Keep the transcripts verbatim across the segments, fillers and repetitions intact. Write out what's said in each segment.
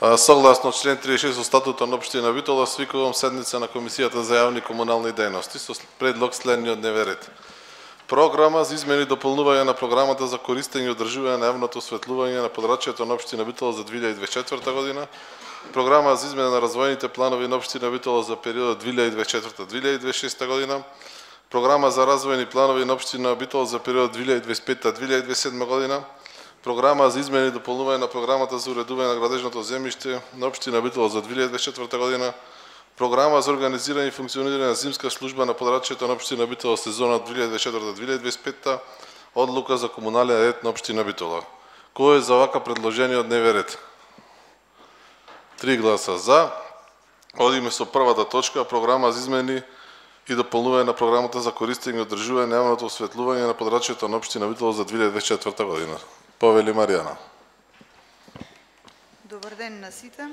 Согласно член триесет и шест од статутот на општина Битола, свикувам седница на Комисијата за јавни комунални дејности со предлог следниот дневен ред. Програма за измени и дополнување на програмата за користење и одржување на јавното осветлување на подрачјето на општина Битола за две илјади и дваесет и четврта година, програма за измена на развојните планови на општина Битола за периодот две илјади и дваесет и четврта до две илјади и дваесет и шеста година, програма за развојни планови на општина Битола за периодот две илјади и дваесет и пета до две илјади и дваесет и седма година, програма за измени и дополнување на програмата за уредување на градежното земјиште на општина Битола за две илјади и дваесет и четврта година, програма за организирање и функционирање на зимска служба на подрачјето на општина Битола сезона две илјади и дваесет и четврта до две илјади и дваесет и пета, одлука за комунален ред на општина Битола. Кој е за вака предложениот дневен ред? Три гласа за. Одиме со првата точка, програма за измени и дополнување на програмата за користење и одржување на јавното осветлување на подрачјето на општина Битола за две илјади и дваесет и четврта година. Повели Маријана. Добар ден на сите.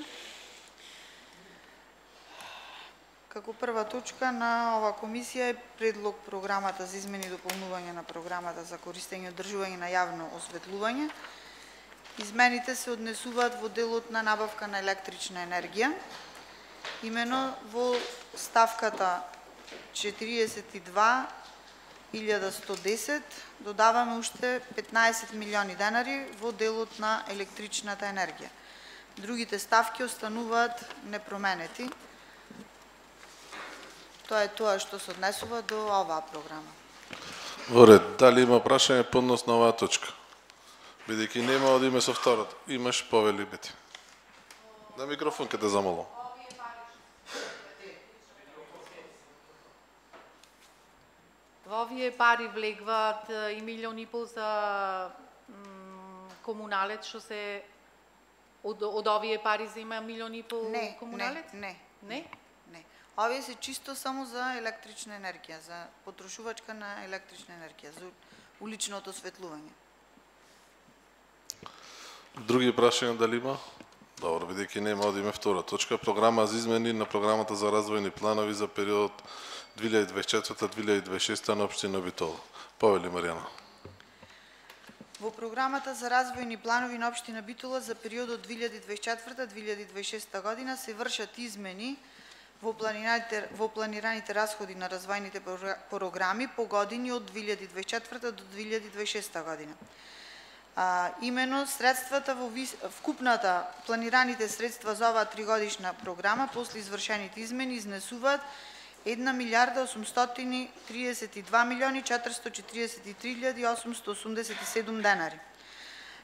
Како прва точка на ова комисија е предлог програмата за измени и дополнување на програмата за користење и одржување на јавно осветлување. Измените се однесуваат во делот на набавка на електрична енергија. Имено во ставката четириесет и два илјади сто и десет додаваме уште петнаесет милиони денари во делот на електричната енергија. Другите ставки остануваат непроменети. Тоа е тоа што се однесува до оваа програма. Во ред, дали има прашање по однос на оваа точка? Бидејќи нема, одиме со втората. Имаш, повели Бети. На микрофон ке те замолам. Во овие пари влегват и милион и пол за комуналец, што се од, од овие пари зема милион и пол не, комуналец? Не, не. Не. Овие се чисто само за електрична енергија, за потрошувачка на електрична енергија, за уличното осветлување. Други прашања дали има? Добро, бидејќи нема, одиме втора точка. Програма за измени на програмата за развојни планови за периодот две илјади и дваесет и четврта до две илјади и дваесет и шеста на општина Битола. Повели Маријана. Во програмата за развојни планови на општина Битола за периодот две илјади и дваесет и четврта до две илјади и дваесет и шеста година се вршат измени во планираните, во планираните расходи на развојните програми по години од две илјади и дваесет и четврта до две илјади и дваесет и шеста година. А, имено средствата во вис... вкупната планираните средства за оваа тригодишна програма после извршените измени изнесуваат една милијарда осумстотини триесет и два милиони четиристотини четириесет и три илјади осумстотини осумдесет и седум денари.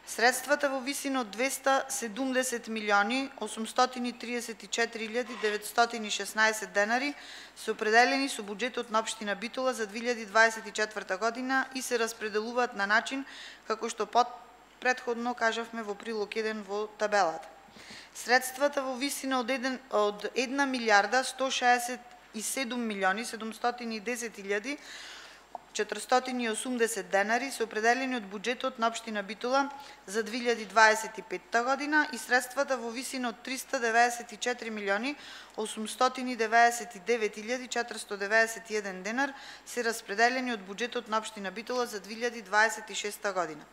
Средствата во висина од двесте и седумдесет милиони осумстотини триесет и четири илјади деветстотини и шеснаесет денари се определени со буџетот на општина Битола за две илјади и дваесет и четврта година и се распределуваат на начин како што под претходно кажавме во прилог еден во табелата. Средствата во висина од, од една милијарда сто шеесет и седум милиони седумстотини и десет илјади четиристотини и осумдесет денари се определени од буџетот на општина Битола за две илјади и дваесет и петта година и средствата во висина од триста деветдесет и четири милиони осумстотини деветдесет и девет илјади четиристотини деведесет и еден денар се распределени од буџетот на општина Битола за две илјади и дваесет и шеста година.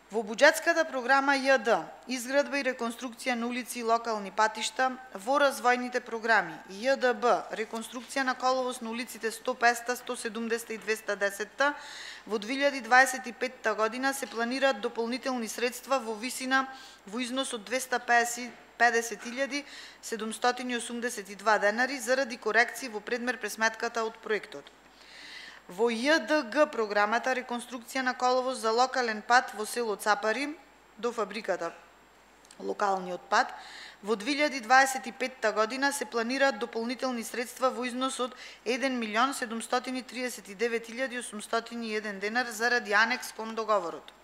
Во буџетската програма Ј Д изградба и реконструкција на улици и локални патишта во развојните програми Ј Д Б реконструкција на коловоз на улиците сто, песета, сто седумдесета и двесте и десета во две илјади и дваесет и петта година се планираат дополнителни средства во висина во износ од двесте и педесет илјади седумстотини и осумдесет и два денари заради корекции во предмер пресметката од проектот. Во Ј Д Г програмата реконструкција на коловоз за локален пат во село Цапари до фабриката локалниот пат во две илјади и дваесет и петта година се планираат дополнителни средства во износ од еден милион седумстотини триесет и девет илјади осумстотини и еден денар заради анекс кон договорот.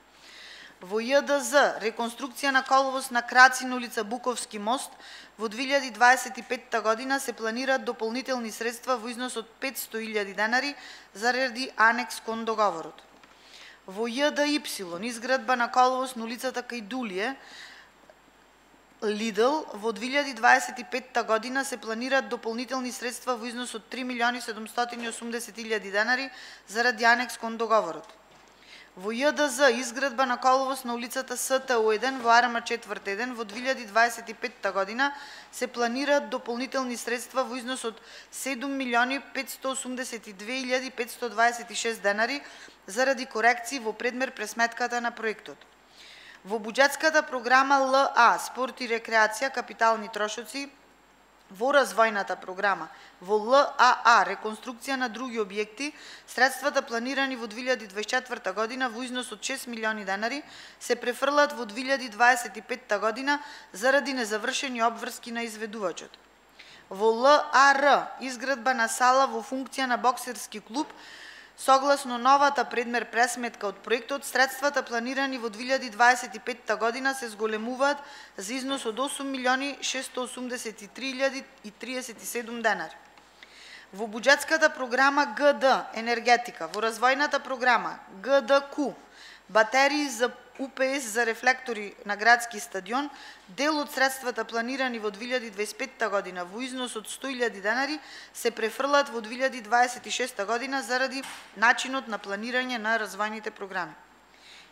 Во Ј Д З реконструкција на коловоз на краци на улица Буковски мост во две илјади и дваесет и петта година се планираат дополнителни средства во износ од петсто илјади денари заради анекс кон договорот. Во Ј Д И изградба на коловоз на улицата Кајдулие Лидл во две илјади и дваесет и петта година се планираат дополнителни средства во износ од три милиони седумстотини и осумдесет илјади денари заради анекс кон договорот. Во Ј Д З изградба на коловоз на улицата С Т У еден во Арама четврт еден во две илјади дваесет и петта година се планираат дополнителни средства во износ од седум милиони петстотини осумдесет и две илјади петстотини дваесет и шест денари заради корекции во предмер пресметката на проектот. Во буџетската програма Л А спорт и рекреација капитални трошоци во развојната програма во Л А А реконструкција на други објекти, средствата планирани во две илјади дваесет и четврта година во износ од шест милиони денари се префрлат во две илјади дваесет и петта година заради незавршени обврски на изведувачот. Во Л А Р изградба на сала во функција на боксерски клуб. Согласно новата предмер пресметка од проектот, средствата планирани во две илјади дваесет и петта година се зголемуваат за износ од осум милиони шестстотини осумдесет и три илјади и триесет и седум денари. Во буџетската програма Г Д енергетика, во развојната програма Г Д Q батерии за У П С за рефлектори на градски стадион, дел од средствата планирани во две илјади дваесет и петта година во износ од сто илјади денари се префрлат во две илјади дваесет и шеста година заради начинот на планирање на развојните програми.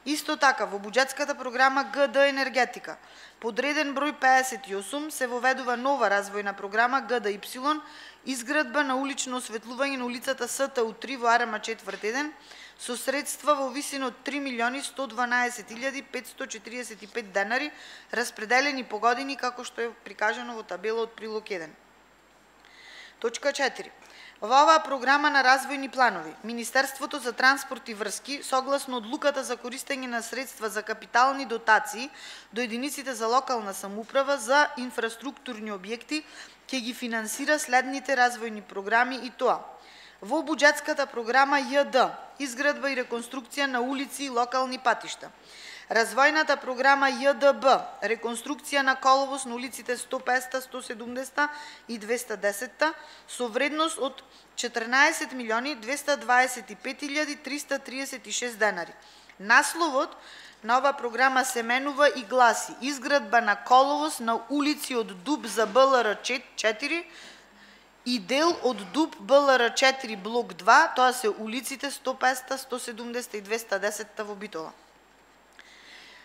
Исто така, во буџетската програма Г Д енергетика, подреден број пеесет и осум се воведува нова развојна програма Г Д Y, изградба на улично осветлување на улицата С Т У три во Арама четврт еден, со средства во висина од три милиони сто дванаесет илјади петстотини четириесет и пет денари, распределени по години како што е прикажано во табела од прилог еден. Точка четири. Во оваа програма на развојни планови, Министерството за транспорт и врски, согласно одлуката за користење на средства за капитални дотации до единиците за локална самоуправа за инфраструктурни објекти, ќе ги финансира следните развојни програми и тоа: во буџетската програма Ј Д изградба и реконструкција на улици и локални патишта, развојната програма Ј Д Б реконструкција на коловоз на улиците сто песет, сто седумдесет и двеста десет со вредност од четрнаесет милиони двеста дваесет и пет илјади триста триесет и шест денари. Насловот на ова програма се менува и гласи: изградба на коловоз на улици од Дуб за Б Л Р четири и дел од Дуб Б Л Р четири блок два, тоа се улиците сто песет, сто седумдесет и двеста десет во Битола.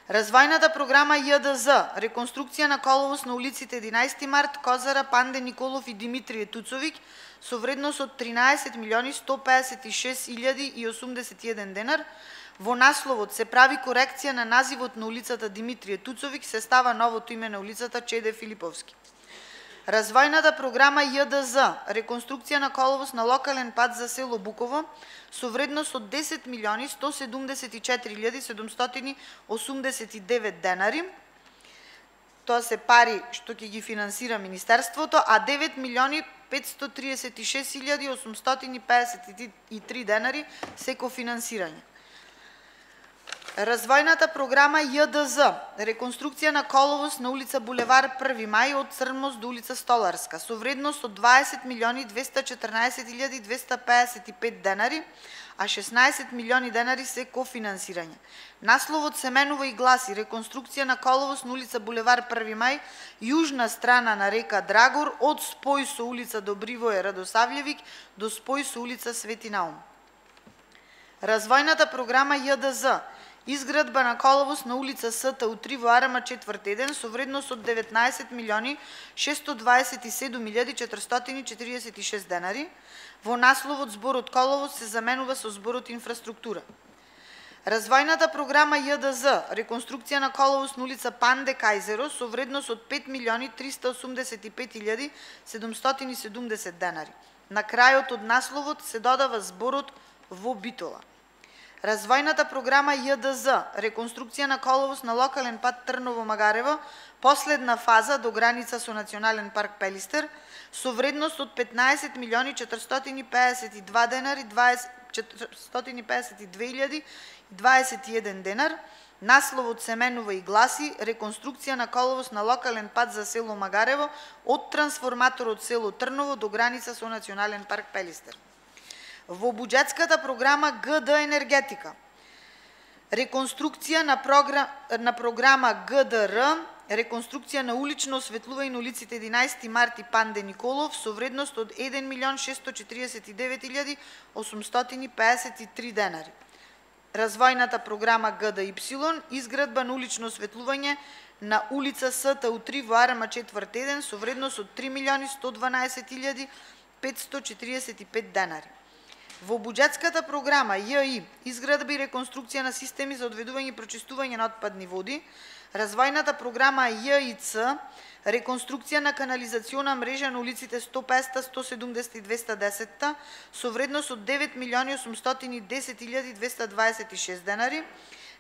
Развојната програма Ј Д З реконструкција на коловоз на улиците единаесети март, Козара, Панде Николов и Димитрije Туцовиќ со вредност од тринаесет милиони сто пеесет и шест илјади и осумдесет и еден денар. Во насловот се прави корекција на називот на улицата Димитрije Туцовиќ, се става новото име на улицата Чеде Филиповски. Развојната програма Ј Д З реконструкција на коловоз на локален пат за село Буково со вредност од десет милиони сто седумдесет и четири илјади седумстотини осумдесет и девет денари. Тоа се пари што ќе ги финансира Министерството, а девет милиони петстотини триесет и шест илјади осумстотини пеесет и три денари се кофинансирање. Развојната програма Ј Д З реконструкција на коловоз на улица Булевар први мај од Црнмост до улица Столарска со вредност од дваесет милиони двеста четрнаесет илјади двеста пеесет и пет денари, а шеснаесет милиони денари се кофинансирање. Насловот се менува и гласи: реконструкција на коловоз на улица Булевар први мај, јужна страна на река Драгор од спој со улица Добривој Радосављевиќ до спој со улица Свети Наум. Развојната програма Ј Д З изградба на коловоз на улица С Т У три во Арама четврт еден со вредност од деветнаесет милиони шестстотини дваесет и седум илјади четиристотини четиридесет и шест денари. Во насловот зборот коловоз се заменува со зборот инфраструктура. Развојната програма Ј Д З реконструкција на коловоз на улица Панде Кајзеро со вредност од пет милиони триста осумдесет и пет илјади седумстотини и седумдесет денари. На крајот од насловот се додава зборот во Битола. Развојната програма Ј Д З реконструкција на коловоз на локален пат Трново-Магарево, последна фаза до граница со Национален парк Пелистер, со вредност од петнаесет милиони четиристотини пеесет и два денари, четиристотини пеесет и две илјади дваесет и еден денар. Насловот се менува и гласи: реконструкција на коловоз на локален пат за село Магарево од трансформаторот село Трново до граница со Национален парк Пелистер. Во буџетската програма Г Д енергетика, реконструкција на, програм, на програма Г Д Р, реконструкција на улично осветлување на улиците единаесети март и Панде Николов со вредност од еден милион шестстотини четириесет и девет илјади осумстотини пеесет и три денари. Развојната програма Г Д Y, изградба на улично осветлување на улица С Т У три во Арама четврт еден со вредност од три милиони сто дванаесет илјади петсто четириесет и пет денари. Во буџетската програма Ј И, изградба и реконструкција на системи за одведување и прочистување на отпадни води, развојната програма Ј И Ц, реконструкција на канализациона мрежа на улиците сто песет, сто седумдесет и двеста десет со вредност од девет милиони осумстотини и десет илјади двеста дваесет и шест денари.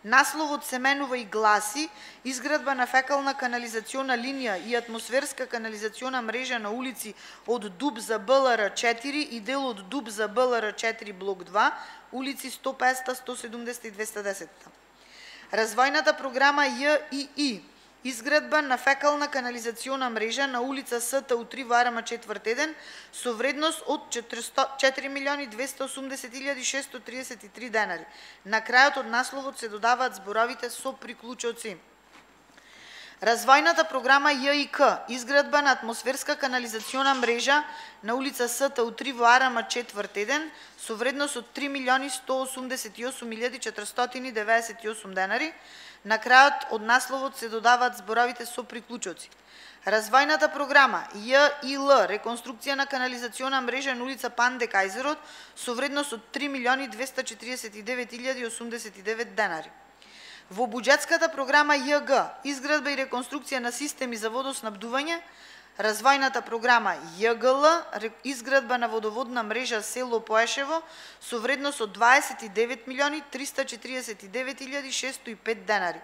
Насловот се менува и гласи: изградба на фекална канализациона линија и атмосферска канализациона мрежа на улици од Дуб за Б Л Р четири и дел од Дуб за Б Л Р четири блок два, улици сто песет, сто седумдесет и двеста десет. Развојната програма Ј И И, изградба на фекална канализациона мрежа на улица С Т У три во Арама четврт еден со вредност од четири милиони двеста осумдесет илјади шестsto триесет и три денари. На крајот од насловот се додаваат зборовите со приклучоци. Развојната програма Ј И К, изградба на атмосферска канализациона мрежа на улица С Т У три во Арама четврт еден со вредност од три милиони сто осумдесет и осум илјади четиристотини деветдесет и осум денари. На крајот од насловот се додаваат зборовите со приклучоци. Развојната програма Ј И Л, реконструкција на канализациона мрежа на улица Панде Кајзерот со вредност од три милиони двеста четириесет и девет илјади осумдесет и девет денари. Во буџетската програма Ј Г, изградба и реконструкција на системи за водоснабдување, развојната програма Ј Г Л, изградба на водоводна мрежа село Поешево со вредност од дваесет и девет милиони триста четириесет и девет илјади шестsto и пет денари.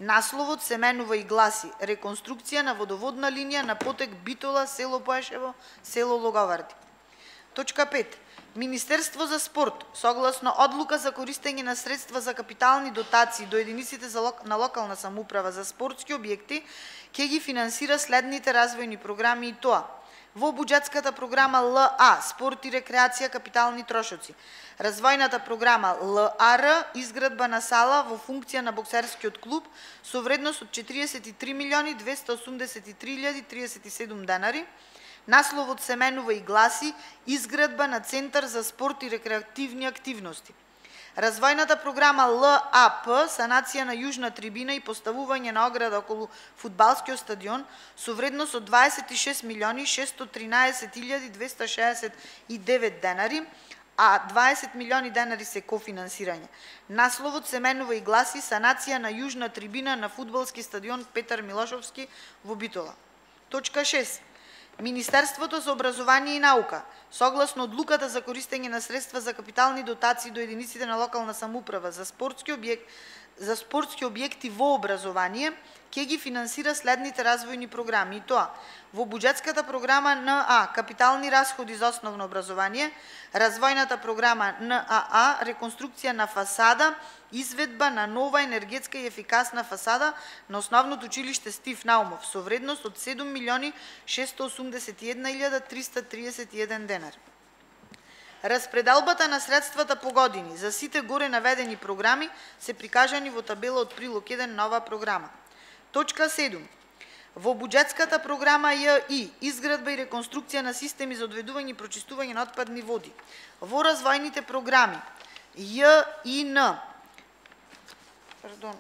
Насловот се менува и гласи: реконструкција на водоводна линија на потек Битола, село Поешево, село Логоварди. Точка пет. Министерство за спорт, согласно одлука за користење на средства за капитални дотации до единиците за лок... на локална самоуправа за спортски објекти, ќе ги финансира следните развојни програми и тоа: во буџетската програма Л А, спорт и рекреација капитални трошоци, развојната програма Л А Р, изградба на сала во функција на боксерскиот клуб со вредност од четириесет и три милиони двеста осумдесет и три илјади триесет и седум денари. Насловот се менува и гласи: изградба на центар за спорт и рекреативни активности. Развојната програма Л А П, санација на јужна трибина и поставување на ограда околу фудбалскиот стадион со вредност од дваесет и шест милиони шестsto тринаесет илјади двеста шеесет и девет денари, а дваесет милиони денари се кофинансирање. Насловот се менува и гласи: санација на јужна трибина на фудбалски стадион Петар Милошовски во Битола. Точка шест. Министерството за образование и наука, согласно одлуката за користење на средства за капитални дотации до единиците на локална самоуправа за спортски објект, за спортски објекти во образование, ќе ги финансира следните развојни програми, и тоа: во буџетската програма Н А, капитални расходи за основно образование, развојната програма Н А А, реконструкција на фасада, изведба на нова енергетска и ефикасна фасада на основното училиште Стив Наумов со вредност од седум милиони шестsto осумдесет и една илјада триста триесет и еден денари. Распределбата на средствата по години за сите горе наведени програми се прикажани во табела од прилог еден на оваа програма. Точка седум. Во буџетската програма Ј И, изградба и реконструкција на системи за одведување и прочистување на отпадни води. Во развојните програми Ј И Н, Пардон.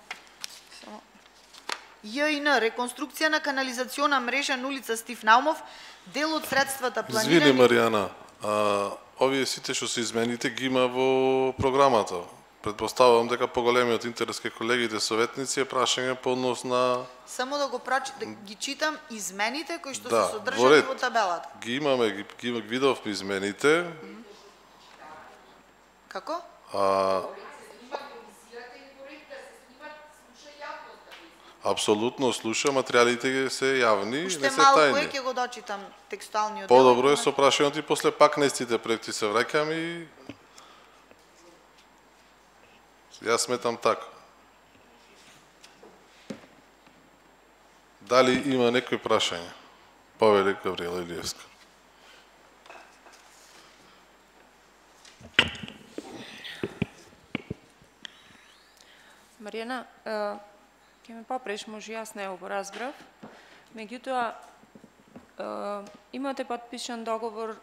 Ј И Н, реконструкција на канализациона мрежа на улица Стив Наумов, дел од средствата планирани... Извини, Маријана, а, овие сите што се измените ги има во програмата. Предпоставувам дека поголемиот интерес кај колегите советници е прашање по однос на... Само да го проч... да ги читам измените кои што да, се содржани во, во табелата. Ги имаме, ги, ги видовме измените. Како? А... Апсолутно слуша, материјалите се јавни, Уште не се малку тајни. е, ќе го дочитам текстуалниот дел. Подобро е со прашањето и после пак на истите проекти се враќам и јас сметам така. Дали има некои прашања? Повеле Гавриела Илиевска. Маријана, ќе ме попреш, може јас не го разбрав. Меѓутоа, имате подпишан договор,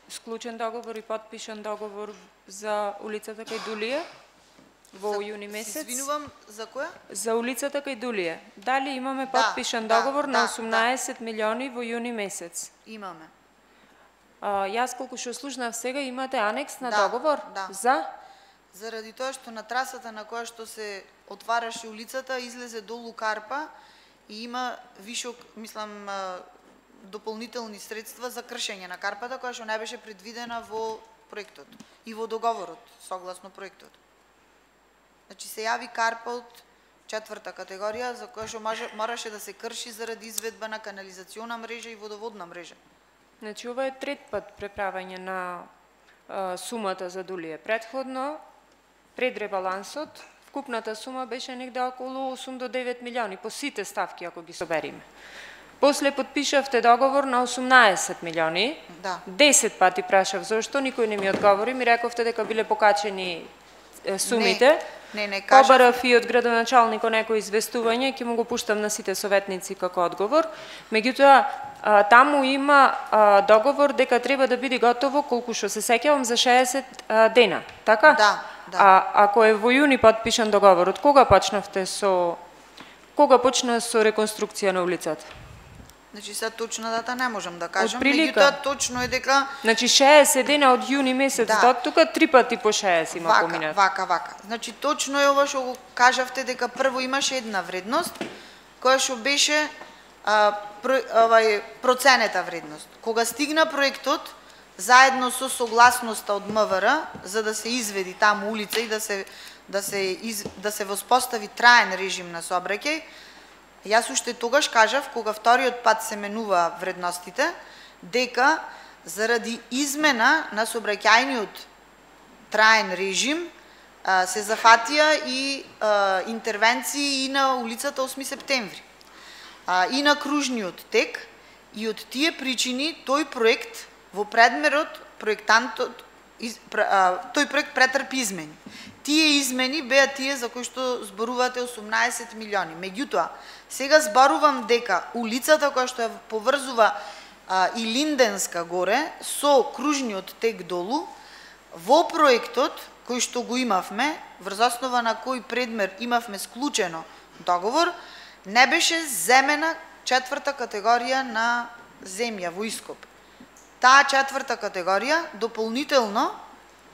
склучен договор и подпишан договор за улицата кај Дулија во За- јуни се месец Извинувам, за која? за улицата кај Дулие. Дали имаме Да, потпишан да, договор да, на да. осумнаесет милиони во јуни месец? Имаме. А, јас колку што слушнав сега, имате анекс на Да, договор да. за Заради тоа што на трасата на која што се отвараше улицата излезе долу карпа и има вишок, мислам, а, дополнителни средства за кршење на карпата која што не беше предвидена во проектот и во договорот согласно проектот. Значи се јави карпа од четврта категорија за која што може- мораше да се крши заради изведба на канализациона мрежа и водоводна мрежа. Значи, ова е трет пат преправање на а, сумата за Дулие. Предходно, пред ребалансот, вкупната сума беше негде околу осум до девет милиони, по сите ставки, ако ги собериме. После подпишавте договор на осумнаесет милиони, Да. десет пати прашав зошто, никој не ми одговори, ми рековте дека биле покачени е, сумите. Не, не, кажав- Побарав и од градоначалникот некој известување, ќе му го пуштам на сите советници како одговор. Меѓутоа, а, таму има а, договор дека треба да биде готово, колку што се сеќавам, за шеесет а, дена, така? Да, да. А ако е во јуни потпишан договорот, кога почнавте со кога почна со реконструкција на улицата? Значи сега точна дата не можам да кажам, Отприлика. меѓутоа точно е дека Значи шеесет дена од јуни месец Да. до тука, три пати по шеесет има вака, поминат. вака, вака. Значи точно е ова што го кажавте дека прво имаше една вредност која што беше а, про, овај проценета вредност. Кога стигна проектот заедно со согласноста од МВР за да се изведи таму улица и да се да се из, да се воспостави траен режим на сообраќај, јас уште тогаш кажав, кога вториот пат се менува вредностите, дека заради измена на сообраќајниот траен режим а, се зафатија и а, интервенции и на улицата осми септември, а, и на кружниот тек, и од тие причини тој проект во предмерот проектантот из, а, тој проект претрпи измени. Тие измени беа тие за кои што зборувате осумнаесет милиони. Меѓутоа, сега зборувам дека улицата која што ја поврзува а, и Линденска горе со кружниот тек долу, во проектот кој што го имавме, врз основа на кој предмер имавме склучено договор, не беше земена четврта категорија на земја во ископ. Таа четврта категорија дополнително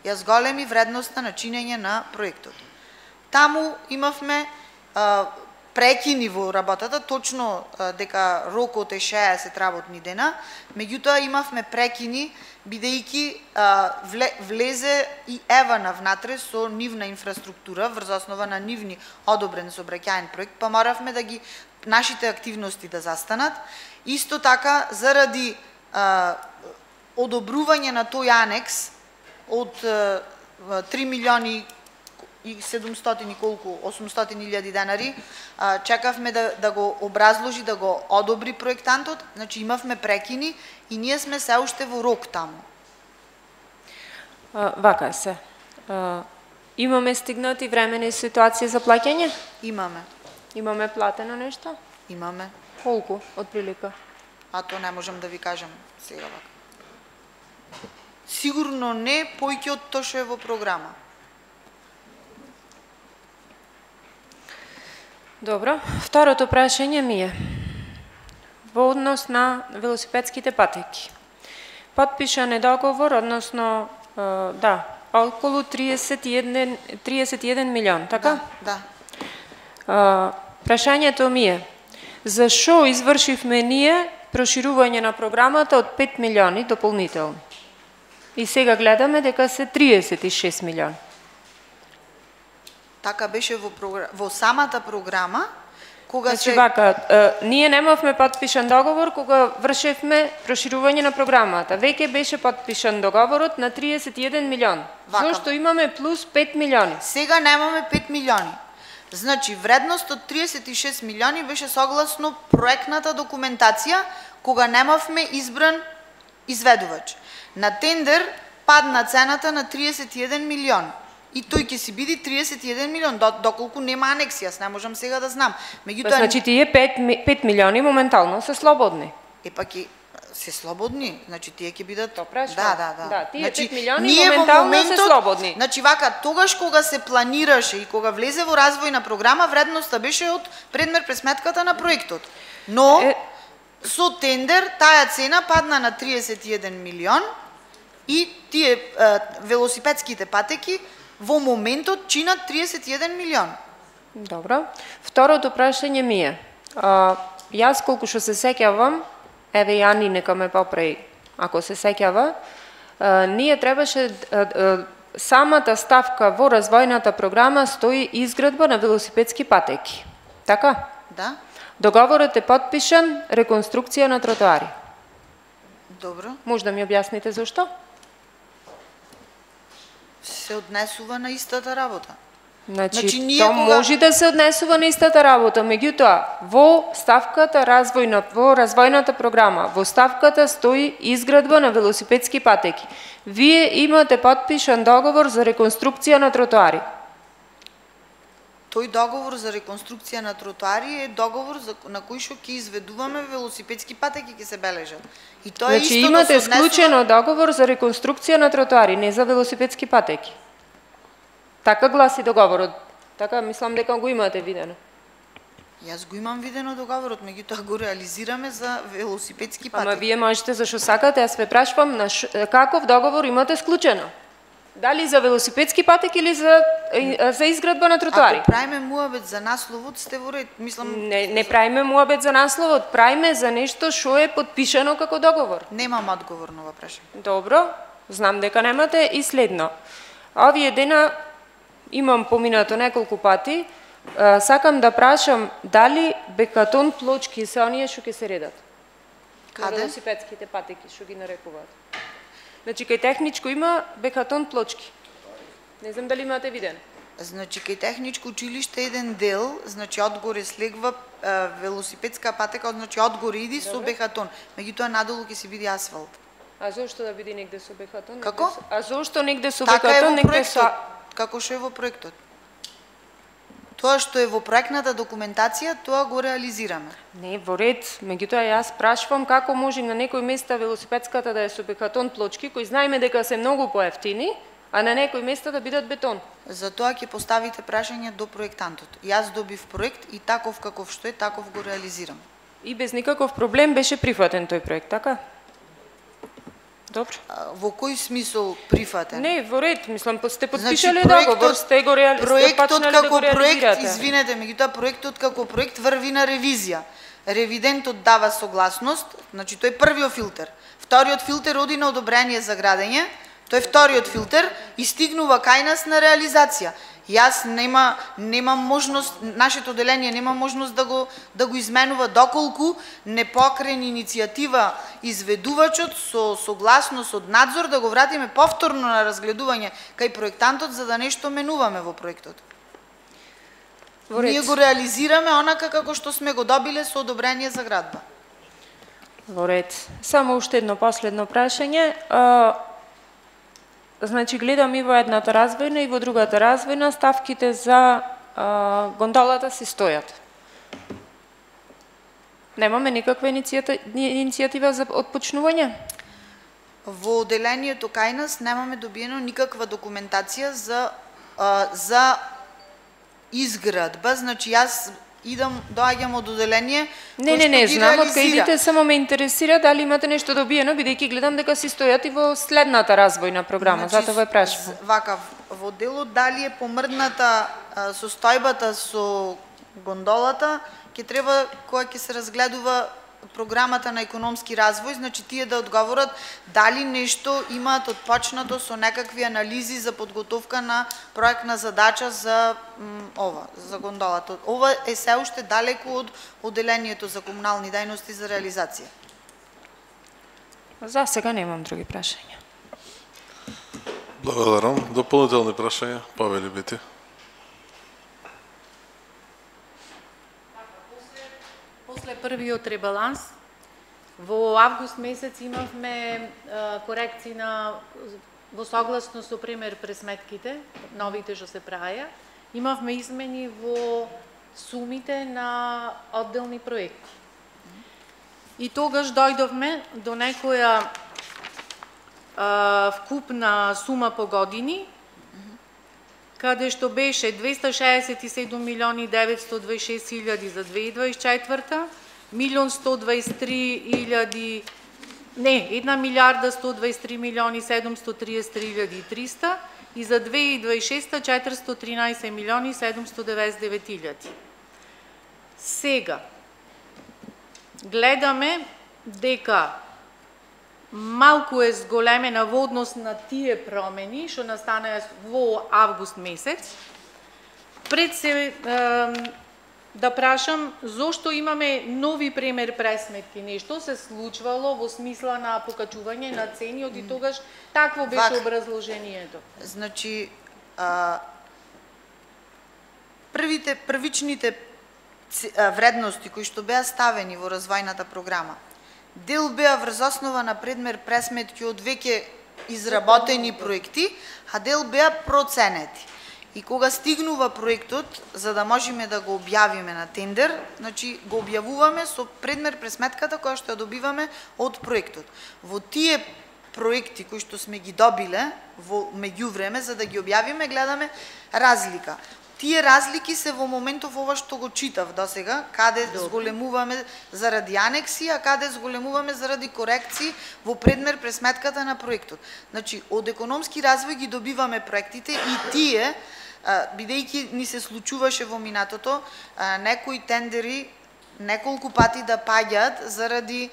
ја зголеми вредноста на чинење на проектот. Таму имавме а, прекини во работата, точно а, дека рокот е шеесет работни дена, меѓутоа имавме прекини бидејќи а, вле, влезе и Евана внатре со нивна инфраструктура врз основа на нивни одобрен сообраќајен проект, па моравме да ги нашите активности да застанат. Исто така заради а, одобрување на тој анекс од три милиони и седумстотини колку, осумстотини илјади денари, чекавме да, да го образложи, да го одобри проектантот, значи имавме прекини и ние сме се уште во рок таму. А, вака е се. А, имаме стигнати времени ситуации за плаќање? Имаме, Имаме платено нешто? имаме, Колку, отприлика? а то не можам да ви кажам сега вака. Сигурно не поиќе од тоа што е во програма. Добро. Второто прашање ми е во однос на велосипедските патеки. Потпишан е договор, односно, е, да, околу триесет и еден, триесет и еден милион, така? Да, А, да. прашањето ми е, зашо извршивме ние проширување на програмата од пет милиони дополнителни? И сега гледаме дека се триесет и шест милиони. Така беше во, програ... во самата програма, кога Значи се... вака, е, ние немавме потпишан договор кога вршевме проширување на програмата. Веќе беше потпишан договорот на триесет и еден милион. Вака. Зошто имаме плюс пет милиони? Сега немаме пет милиони. Значи, вредност од триесет и шест милиони беше согласно проектната документација, кога немавме избран изведувач. На тендер падна цената на триесет и еден милион. И тој ќе си биде триесет и еден милион, доколку нема анекси, јас не можам сега да знам. Меѓутоа, Значи тие пет, пет милиони моментално се слободни. е па ќе се слободни, значи тие ќе бидат То прашувам. Да, да, да. Да, тие значи, пет милиони ние во моментално се моментот, слободни. Значи вака, тогаш кога се планираше и кога влезе во развојна програма, вредноста беше од предмер пресметката на проектот. Но Е... со тендер таа цена падна на триесет и еден милион и тие е, велосипедските патеки во моментот чинат триесет и еден милион. Добро. Второто прашање ми е, а, јас колку што се сеќавам, еве Јани нека ме поправи, ако се сеќава, а, ние требаше а, а, самата ставка во развојната програма стои изградба на велосипедски патеки. Така? Да? Договорот е потпишан, реконструкција на тротоари. Добро. Може да ми објасните зашто? Се однесува на истата работа. Значи, Значи, ние то кога- може да се однесува на истата работа, меѓутоа, во ставката развојна, во развојната програма, во ставката стои изградба на велосипедски патеки. Вие имате потпишан договор за реконструкција на тротоари. Тој договор за реконструкција на тротоари е договор за, на кој што ќе изведуваме велосипедски патеки ќе се бележат. И тоа е Значи, исто имате да се однесува... склучено договор за реконструкција на тротоари, не за велосипедски патеки. Така гласи договорот. Така мислам дека го имате видено. Јас го имам видено договорот, меѓутоа го реализираме за велосипедски патеки. Ама вие можете зашо сакате, јас ве прашувам на ш... каков договор имате склучено? Дали за велосипедски патеки или за, за изградба на тротоари? Ако правиме муабет за насловот, сте во ред. Мислам, Не, не правиме муабет за насловот, правиме за нешто што е потпишано како договор. немам одговор на ова прашање. Добро, знам дека немате и следно. Овие дена имам поминато неколку пати, а, сакам да прашам дали бекатон плочки се оние што ќе се редат? На Каде? велосипедските патеки што ги нарекуваат. Значи кај техничко има бекатон плочки. Не знам дали имате виден. Значи, кај техничко училиште еден дел, значи одгоре слегва е, велосипедска патека, значи одгоре иди со бехатон. Меѓутоа надолу ќе се биде асфалт. А зошто да биде негде со бекатон? негде Како? со- А зошто негде со Така е бекатон, во негде проектот, со... како што е во проектот. Тоа што е во проектната документација, тоа го реализираме. Не, во ред, меѓутоа јас прашувам како може на некој места велосипедската да е со бекатон плочки, кои знаеме дека се многу поевтини, а на некој места да бидат бетон. Затоа ќе поставите прашање до проектантот. Јас добив проект и таков каков што е, таков го реализирам. И без никаков проблем беше прифатен тој проект, така? Добро. А, Во кој смисол прифатен? Не, во ред, мислам, сте Значи, подпишале проектот- договор, сте го реали... сте Проектот почнале да како го проект, реализирате. извинете, меѓутоа проектот како проект врви на ревизија. Ревидентот дава согласност, значи тој е првиот филтер. Вториот филтер оди на одобрение за градење, тој е вториот филтер и стигнува кај нас на реализација. Јас нема немам можност, нашето одделение нема можност да го да го изменува доколку не покрени иницијатива изведувачот со согласност од надзор да го вратиме повторно на разгледување кај проектантот за да нешто менуваме во проектот. Во ред. Ние го реализираме онака како што сме го добиле со одобрение за градба. Во ред. Само уште едно последно прашање. А, значи, гледам и во едната развојна и во другата развојна ставките за а, гондолата си стојат. Немаме никаква иницијата, иницијатива за отпочнување? Во одделението кај нас немаме добиено никаква документација за а, за изградба, значи јас идам, доаѓам од одделение Не, кој не, што не, ги знам од кај реализира. идите, само ме интересира дали имате нешто добиено, бидејќи гледам дека си стојат и во следната развојна програма, Значи, затоа ве прашувам. з- Вака, во делот дали е помрдната а, состојбата со гондолата, ќе треба кога ќе се разгледува програмата на економски развој, значи тие да одговорат дали нешто имаат отпочнато со некакви анализи за подготовка на проектна задача за м, ова, за гондолата. Ова е се уште далеку од одделението за комунални дејности за реализација. За сега немам други прашања. Благодарам. Дополнителни прашања, Павел Бити. После првиот ребаланс, во август месец имавме е, корекции на во согласно со пример пресметките, новите што се праја, имавме измени во сумите на одделни проекти. И тогаш дојдовме до некоја а, вкупна сума по години, каде што беше двеста шеесет и седум милиони деветсто дваесет и шест илјади за две илјади дваесет и четврта, милион сто дваесет и три илјади, не, една милиарда сто дваесет и три милиони седумсто триесет и три илјади и триста и за две илјади дваесет и шеста четиристо тринаесет милиони седумсто деветдесет и девет илјади. Сега гледаме дека малку е зголемена во однос на тие промени што настанаа во август месец. Пред се е, да прашам зошто имаме нови премер пресметки, нешто се случвало во смисла на покачување на цени, од и тогаш такво беше Вак. образложението. Значи, а, првите, првичните ц- а, вредности кои што беа ставени во развојната програма, дел беа врз основа на предмер пресметки од веќе изработени проекти, а дел беа проценети. И кога стигнува проектот, за да можеме да го објавиме на тендер, значи го објавуваме со предмер пресметката која што ја добиваме од проектот. Во тие проекти кои што сме ги добиле во меѓувреме, за да ги објавиме, гледаме разлика. Тие разлики се во моментов ова што го читав досега, каде зголемуваме заради анекси, а каде зголемуваме заради корекции во предмер пресметката на проектот. Значи, од економски развој ги добиваме проектите и тие, бидејќи ни се случуваше во минатото, некои тендери неколку пати да паѓаат заради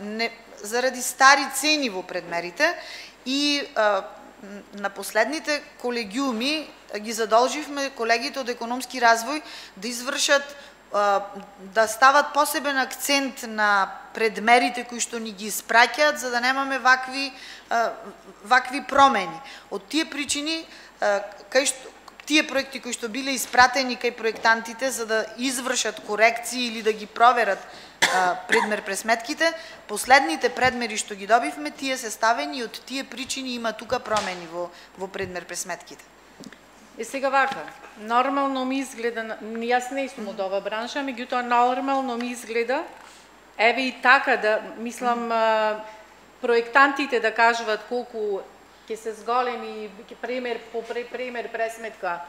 не, заради стари цени во предмерите и на последните колегиуми ги задолживме колегите од економски развој да извршат, да стават посебен акцент на предмерите кои што ни ги испраќаат, за да немаме вакви вакви промени. Од тие причини, кај што тие проекти кои што биле испратени кај проектантите за да извршат корекции или да ги проверат предмер пресметките, последните предмери што ги добивме, тие се ставени и од тие причини има тука промени во во предмер пресметките. Е сега вака, нормално ми изгледа, јас не сум од ова бранша, меѓутоа нормално ми изгледа, еве и така да, мислам, проектантите да кажуваат колку ќе се зголеми, премер по премер пресметка,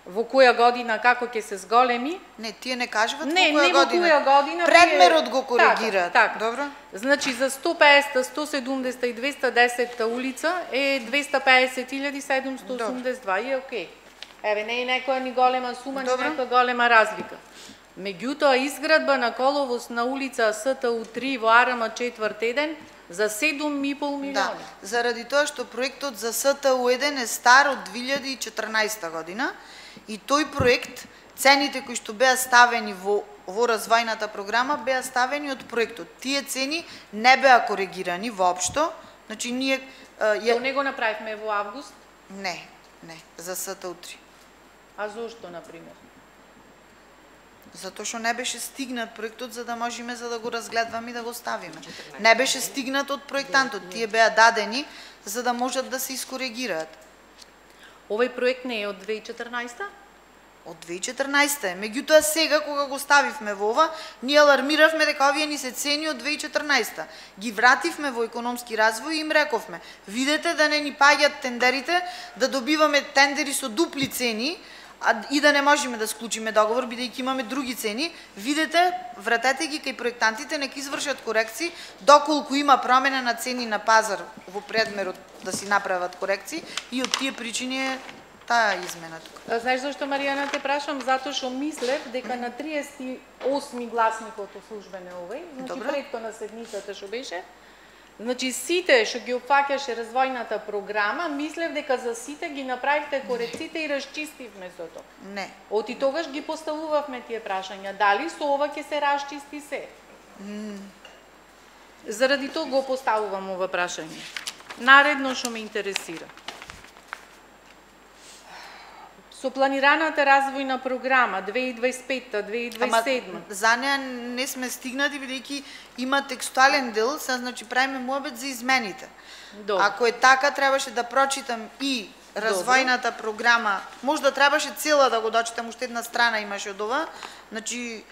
во која година како ќе се зголеми. Не, тие не кажуваат не, во која не година. Не, во која година. Предмерот го коригираат. Така, така. Добро. Значи за сто песет, сто седумдесет и двеста десет улица е двеста песет илјади седумсто осумдесет и два и е окей. Еве, не е некоја ни голема сума, ни некоја голема разлика. Меѓутоа, изградба на коловоз на улица С Т У три во А Р М четврт еден за седум и пол милиони. Да, заради тоа што проектот за С Т У еден е стар од две илјади и четрнаесета година и тој проект, цените кои што беа ставени во во развојната програма беа ставени од проектот. Тие цени не беа коригирани воопшто. Значи ние ја... То не го направивме во август? Не, не, за С Т У три. А зошто, например? Затоа што не беше стигнат проектот за да можеме за да го разгледваме и да го ставиме. Не беше стигнат од проектантот. Тие беа дадени за да можат да се искоригираат. Овој проект не е од две илјади и четрнаесета? Од две илјади и четрнаесета е. Меѓутоа сега кога го ставивме во ова, ние алармиравме дека овие ни се цени од две илјади и четрнаесета. Ги вративме во економски развој и им рековме: видете да не ни паѓаат тендерите, да добиваме тендери со дупли цени, а, и да не можеме да склучиме договор бидејќи имаме други цени. Видете, вратете ги кај проектантите, нека извршат корекции, доколку има промена на цени на пазар во предмерот да си направат корекции и од тие причини е таа измена тука. Знаеш зашто, Маријана, те прашам? Затоа што мислев дека на триесет и осми гласникот службен е овој, значи предто на седмицата што беше, значи сите што ги опфаќаше развојната програма, мислев дека за сите ги направивте корекциите и расчистивме со тоа. Не. Оти тогаш ги поставувавме тие прашања. Дали со ова ќе се расчисти се? Mm. Заради тоа го поставувам ова прашање. Наредно што ме интересира. Со планираната развојна програма две илјади дваесет и пета две илјади дваесет и седма. Ама за неа не сме стигнати бидејќи има текстуален дел, се значи правиме муабет за измените. Добро. Ако е така, требаше да прочитам и развојната Добро. програма. Можда требаше цела да го дочитам, уште една страна имаше од ова. Значи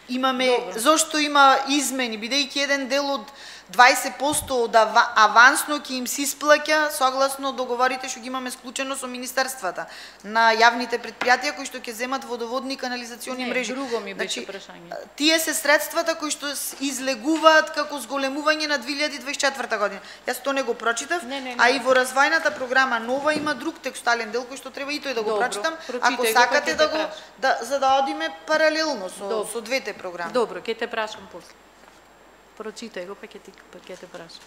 Имаме, Добро. зошто има измени, бидејќи еден дел од дваесет проценти од ава- авансно ќе им се исплаќа согласно договорите што ги имаме склучено со министерствата на јавните предпријатија кои што ќе земат водоводни и канализациони Не, мрежи. друго ми беше Значи, прашање. Тие се средствата кои што с- излегуваат како зголемување на две илјади дваесет и четврта година. Јас тоа не го прочитав, Не, не, не. а и во развојната програма нова има друг текстуален дел кој што треба и тој да го Добро, прочитам, прочитај ако го, сакате па ќе да те го прашам. да за да одиме паралелно со Добро. со двете програми. Добро, ќе те прашам после. Прочитај го, па ќе ти па ќе те прашам.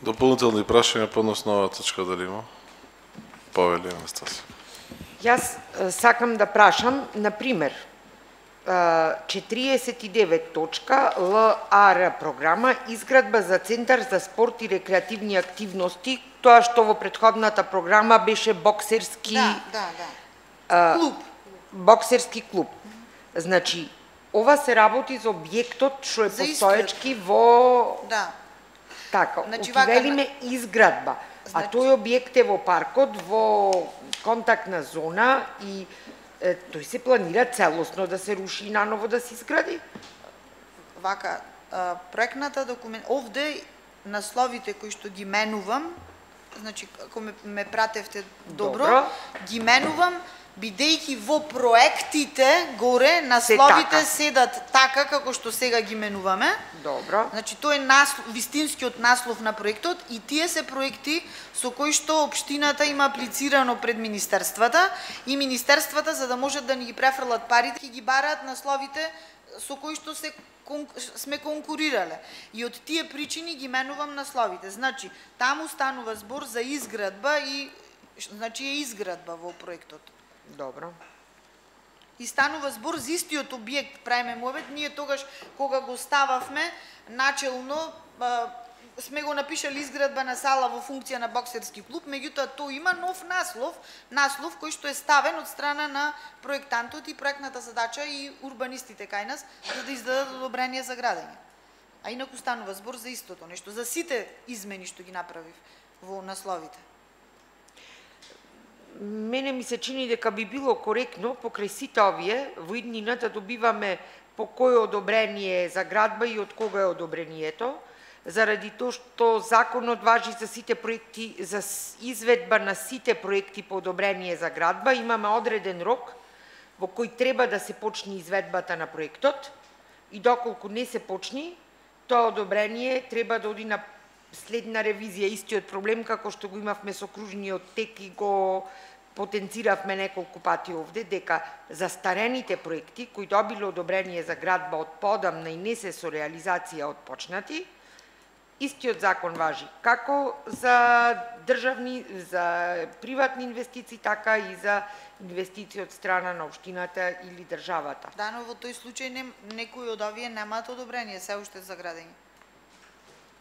Дополнителни прашања по однос на оваа точка дали има? Повели Анастасија. Јас е, сакам да прашам, на пример, е, четириесет и девет точка Л А Р програма изградба за центар за спорт и рекреативни активности, тоа што во претходната програма беше боксерски Да, да, да. е, Клуб. боксерски клуб. Значи, ова се работи за објектот што е За постоечки во Да. така, Значи, значи, вака, велиме изградба. А Значи- тој објект е во паркот, во контактна зона и е, тој се планира целосно да се руши и наново да се изгради. Вака, а, проектната документ, овде насловите кои што ги менувам, значи ако ме, ме пратевте добро, Добро. ги менувам бидејќи во проектите горе насловите така. седат така како што сега ги менуваме. Добро. Значи тој е наслов, вистинскиот наслов на проектот и тие се проекти со кои што општината има аплицирано пред министерствата и министерствата за да можат да ни ги префрлат парите ќе ги бараат насловите со кои што се кон, сме конкурирале. И од тие причини ги менувам насловите. Значи таму станува збор за изградба и значи е изградба во проектот. Добро. И станува збор за истиот објект, правиме муавет, ние тогаш кога го стававме начелно а, сме го напишали изградба на сала во функција на боксерски клуб, меѓутоа тој има нов наслов, наслов кој што е ставен од страна на проектантот и проектната задача и урбанистите кај нас за да издадат одобрение за градење. А инаку станува збор за истото нешто, за сите измени што ги направив во насловите. Мене ми се чини дека би било коректно покрај сите овие во иднината добиваме по кое одобрение за градба и од кога е одобрението, заради тоа што законот важи за сите проекти, за с- изведба на сите проекти по одобрение за градба, имаме одреден рок во кој треба да се почне изведбата на проектот и доколку не се почни, тоа одобрение треба да оди на следна ревизија, истиот проблем како што го имавме со кружниот тек и го потенциравме неколку пати овде, дека застарените проекти кои добиле одобрение за градба од подамна и не се со реализација отпочнати, истиот закон важи како за државни, за приватни инвестиции, така и за инвестиции од страна на општината или државата. Да, но во тој случај не, некои од овие немаат одобрение се уште за градење.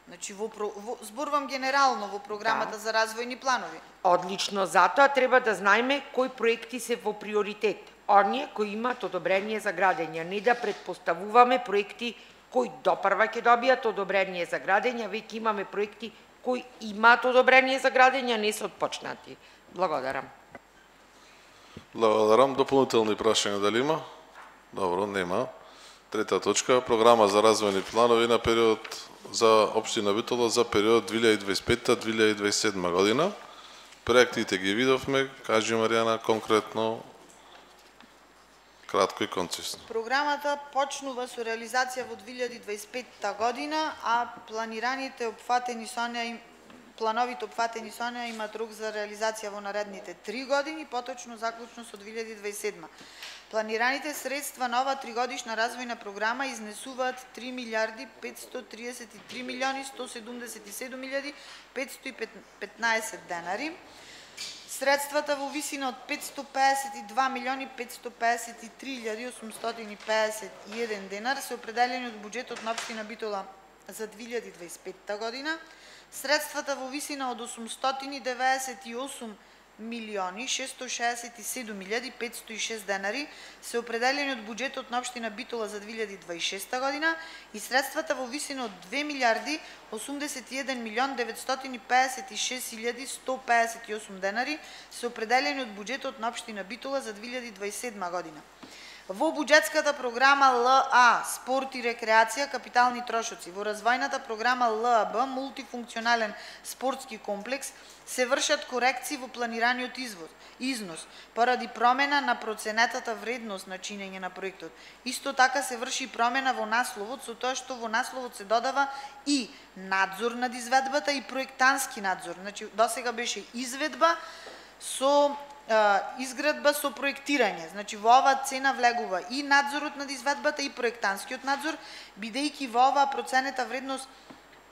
Значи во, про- во зборувам генерално во програмата Да. за развојни планови. Одлично, затоа треба да знаеме кои проекти се во приоритет. Оние кои имаат одобрение за градење, не да предпоставуваме проекти кои допрва ќе добијат одобрение за градење, веќе имаме проекти кои имаат одобрение за градење, не се отпочнати. Благодарам. Благодарам. Дополнителни прашања дали има? Добро, нема. Трета точка, програма за развојни планови на период за општина Битола за период две илјади дваесет и пета до две илјади дваесет и седма година. Проектите ги видовме, кажи Маријана конкретно, кратко и концизно. Програмата почнува со реализација во две илјади дваесет и пета година, а планираните опфатени со неа им- плановите опфатени со неа имаат рок за реализација во наредните три години, поточно заклучно со две илјади дваесет и седма. Планираните средства на оваа тригодишна развојна програма изнесуваат три милиарди петстотини триесет и три милиони сто седумдесет и седум илјади петстотини и петнаесет денари. Средствата во висина од петстотини пеесет и два милиони петстотини пеесет и три илјади осумстотини пеесет и еден денар се определени од буџетот на општина Битола за две илјади дваесет и пета година. Средствата во висина од осумстотини деветдесет и осум милиони шестстотини шеесет и седум илјади петстотини и шест денари се определени од буџетот на општина Битола за две илјади дваесет и шеста година и средствата во висина од две милиарди осумдесет и еден милион деветстотини пеесет и шест илјади сто пеесет и осум денари се определени од буџетот на општина Битола за две илјади дваесет и седма година. Во буџетската програма Л А спорт и рекреација капитални трошоци, во развојната програма Л А Б мултифункционален спортски комплекс се вршат корекции во планираниот извоз, износ поради промена на проценетата вредност на чинење на проектот. Исто така се врши промена во насловот со тоа што во насловот се додава и надзор над изведбата и проектански надзор. Значи досега беше изведба со изградба со проектирање. Значи во оваа цена влегува и надзорот над изведбата и проектанскиот надзор, бидејќи во оваа проценета вредност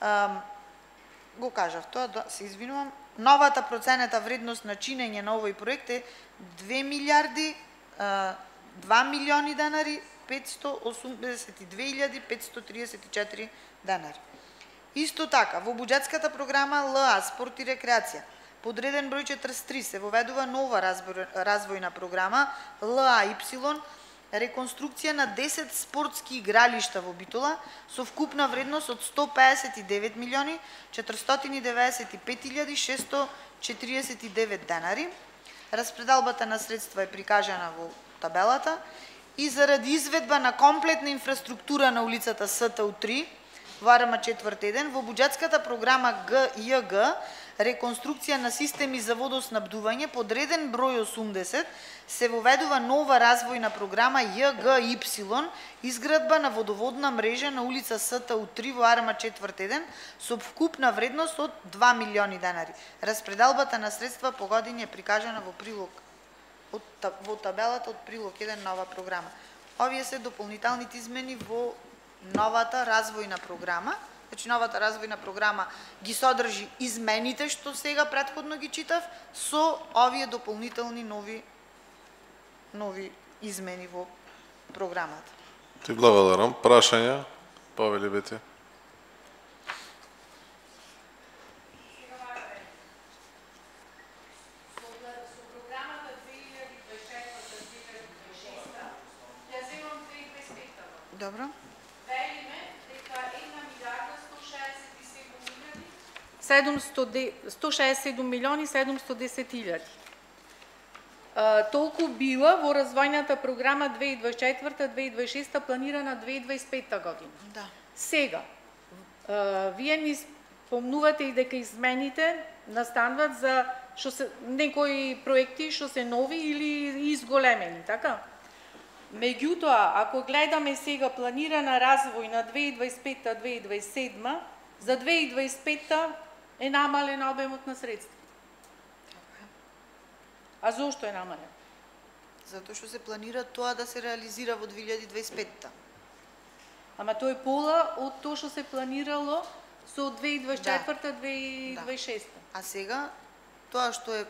а, го кажав тоа, да, се извинувам, новата проценета вредност на чинење на овој проект е две милиарди два милиони денари петстотини осумдесет и две илјади петстотини тридесет и четири денари. Исто така, во буџетската програма Л А спорт и рекреација подреден број четиридесет и три се воведува нова развојна програма Л А Y реконструкција на десет спортски игралишта во Битола со вкупна вредност од сто песет и девет милиони четиристотини деветдесет и пет илјади шестстотини четиридесет и девет денари. Распределбата на средства е прикажана во табелата и заради изведба на комплетна инфраструктура на улицата С Т У три во А Р М четврт еден во буџетската програма Г Ј Г реконструкција на системи за водоснабдување подреден број осумдесет се воведува нова развојна програма Ј Г Y изградба на водоводна мрежа на улица С Т У три во А Р М четврт еден со вкупна вредност од два милиони денари. Распределбата на средства по години е прикажана во прилог од, во табелата од прилог еден на оваа програма. Овие се дополнителните измени во новата развојна програма. Значи новата развојна програма ги содржи измените што сега претходно ги читав со овие дополнителни нови нови измени во програмата. Ти благодарам. Прашања? Повели Бети. Добро. сто шеесет и седум милиони седумстотини и десет илјади. Толку била во развојната програма две илјади дваесет и четврта две илјади дваесет и шеста планирана две илјади дваесет и петта година. Да. Сега, вие ни спомнувате и дека измените настануваат за што се некои проекти што се нови или изголемени, така? Меѓутоа, ако гледаме сега планирана развој на две илјади дваесет и петта две илјади дваесет и седма, за две илјади дваесет и петта е намален обемот на средства. А зошто е намален? Затоа што се планира тоа да се реализира во две илјади дваесет и петта. Ама тоа е пола од тоа што се планирало со две илјади дваесет и четврта две илјади дваесет и шеста. А сега тоа што е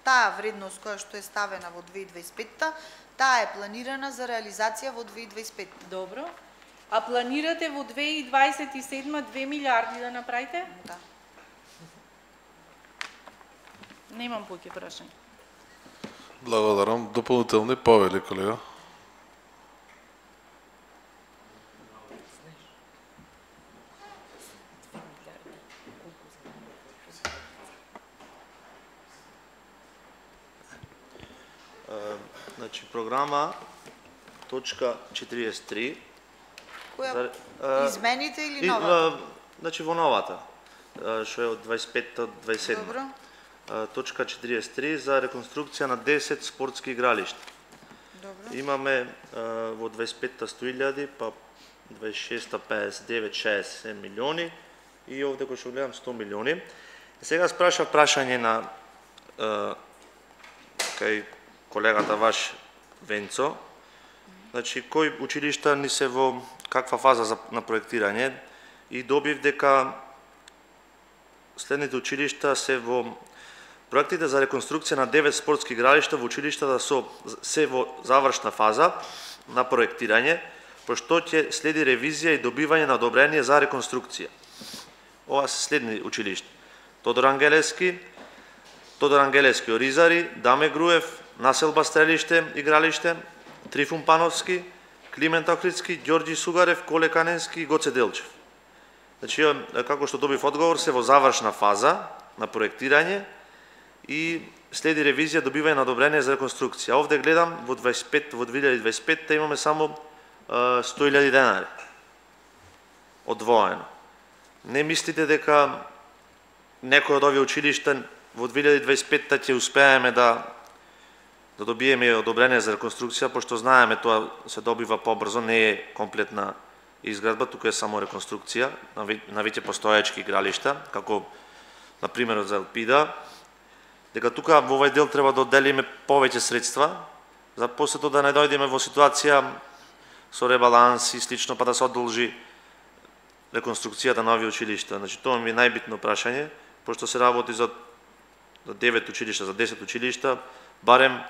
таа вредност која што е ставена во две илјади дваесет и петта, таа е планирана за реализација во две илјади дваесет и петта. Добро. А планирате во две илјади дваесет и седма две милиарди да направите? Да. Немам поќе прашање. Благодарам. Дополнителни повели, колега. Значи програма точка четириесет и три. Која За, измените или и, новата? Значи во новата, што е од дваесет и петта до дваесет и седма. Добро. Точка четириесет и три за реконструкција на десет спортски игралишта. Добро. Имаме во дваесет и петта сто илјади, па дваесет и шеста педесет и девет шеесет и седум милиони и овде кој што гледам сто милиони. Сега спрашав прашање на кај колегата ваш Венцо. Значи, кои училишта ни се во каква фаза за, на проектирање и добив дека следните училишта се во проектите за реконструкција на девет спортски игралишта во училиштата со се во завршна фаза на проектирање, пошто ќе следи ревизија и добивање на одобрение за реконструкција. Ова се следни училишта: Тодор Ангелевски, Тодор Ангелевски Оризари, Даме Груев, Населба Стрелиште игралиште, Трифун Пановски, Климент Охридски, Ѓорѓи Сугарев, Коле Каненски и Гоце Делчев. Значи, како што добив одговор, се во завршна фаза на проектирање и следи ревизија, добивање на одобрение за реконструкција. Овде гледам во дваесет и пет во две илјади и дваесет и петта имаме само сто илјади денари одвоено. Не мислите дека некој од овие училишта во две илјади и дваесет и петта ќе успееме да да добиеме одобрение за реконструкција, пошто знаеме тоа се добива побрзо, не е комплетна изградба, туку е само реконструкција на веќе постоечки игралишта, како на примерот за Елпида, дека тука во овој дел треба да одделиме повеќе средства, за после тоа да не дојдеме во ситуација со ребаланс и слично, па да се одолжи реконструкцијата на овие училишта. Значи, тоа ми е најбитно прашање, пошто се работи за девет училишта, за десет училишта, барем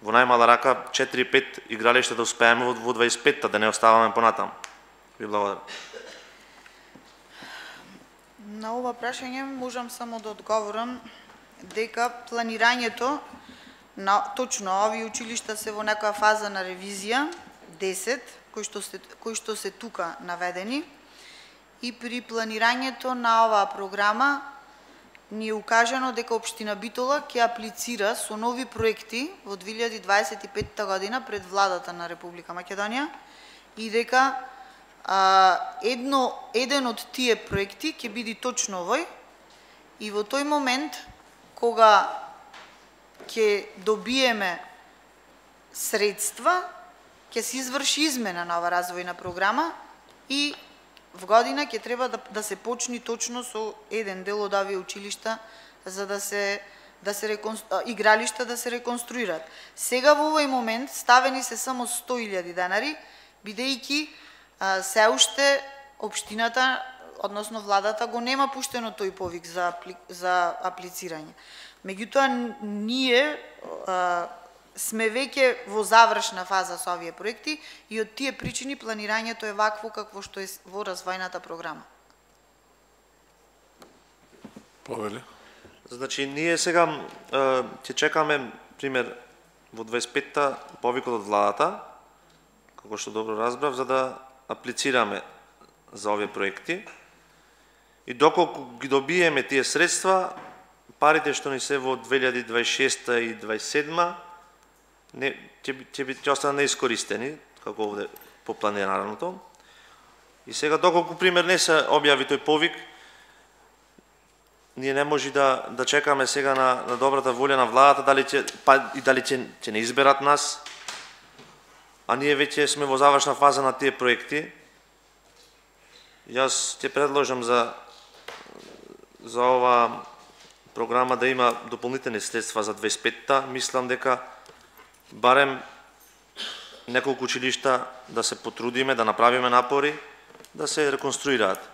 во најмала рака четири-пет игралишта да успееме во дваесет и петта, да не оставаме понатаму. Ви благодарам. На ова прашање можам само да одговорам дека планирањето на точно овие училишта се во некоја фаза на ревизија, десет, кои што се, кои што се тука наведени, и при планирањето на оваа програма ни е укажано дека Општина Битола ќе аплицира со нови проекти во две илјади дваесет и петта година пред владата на Република Македонија и дека а, едно, еден од тие проекти ќе биде точно овој и во тој момент кога ќе добиеме средства, ќе се изврши измена на оваа развојна програма и в година ќе треба да, да се почни точно со еден дел од овие училишта за да се да се реконстру... игралишта да се реконструираат. Сега во овој момент ставени се само сто илјади денари, бидејќи а, се уште општината, односно владата го нема пуштено тој повик за апли... за аплицирање. Меѓутоа ние а, сме веќе во завршна фаза со овие проекти и од тие причини планирањето е вакво какво што е во развојната програма. Повели. Значи, ние сега ќе чекаме, пример, во дваесет и петта повикот од владата, како што добро разбрав, за да аплицираме за овие проекти. И доколку ги добиеме тие средства, парите што ни се во две илјади дваесет и шеста и дваесет и седма, не ќе ќе ќе останат неискористени, како овде по планираното. И сега доколку пример не се објави тој повик, ние не може да да чекаме сега на на добрата волја на владата дали ќе па и дали ќе ќе не изберат нас. А ние веќе сме во завршна фаза на тие проекти. Јас ќе предложам за за ова програма да има дополнителни средства за дваесет и петта. Мислам дека барем неколку училишта да се потрудиме, да направиме напори, да се реконструираат.